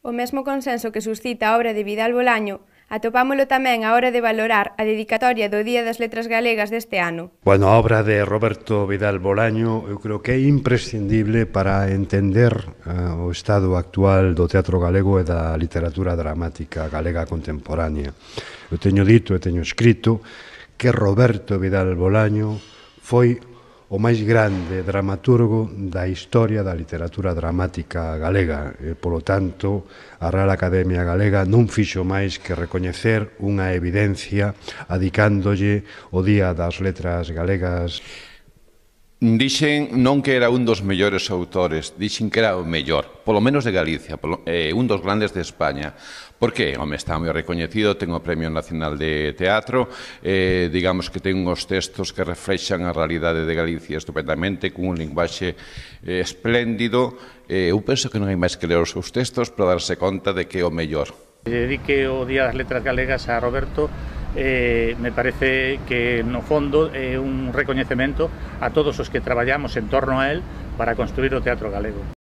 O mesmo consenso que suscita a obra de Vidal Bolaño atopámolo tamén á hora de valorar a dedicatoria do Día das Letras Galegas deste ano. Bueno, a obra de Roberto Vidal Bolaño eu creo que é imprescindible para entender o estado actual do teatro galego e da literatura dramática galega contemporánea. Eu teño dito e teño escrito que Roberto Vidal Bolaño foi o máis grande dramaturgo da historia da literatura dramática galega e, polo tanto, a Real Academia Galega non fixo máis que recoñecer unha evidencia adicándolle o Día das Letras Galegas. Dixen non que era un dos mellores autores, dixen que era o mellor, polo menos de Galicia, un dos grandes de España. Por que? Home, está moi recoñecido, ten o Premio Nacional de Teatro, digamos que ten uns textos que reflexan a realidade de Galicia estupendamente, con un linguaxe espléndido. Eu penso que non hai máis que ler os seus textos para darse conta de que é o mellor. Dedique o Día das Letras Galegas a Roberto. Me parece que no fondo é un recoñecemento a todos os que traballamos en torno a él para construir o teatro galego.